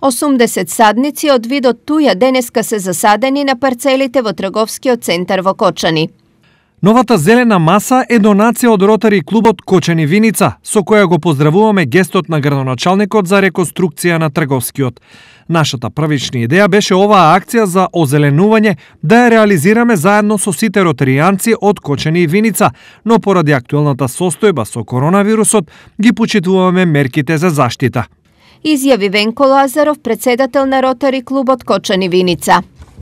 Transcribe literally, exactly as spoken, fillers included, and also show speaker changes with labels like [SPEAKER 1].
[SPEAKER 1] осумдесет садници од видот туја денеска се засадени на парцелите во трговскиот центар во Кочани.
[SPEAKER 2] Новата зелена маса е донација од Ротари клубот Кочани Виница, со која го поздравуваме гестот на градоначалникот за реконструкција на трговскиот. Нашата првична идеја беше оваа акција за озеленување да ја реализираме заедно со сите ротаријанци од Кочани и Виница, но поради актуелната состојба со коронавирусот ги почитуваме мерките за заштита.
[SPEAKER 1] Изјави Венко Лазаров, председател на Ротари клубот Кочани Виница.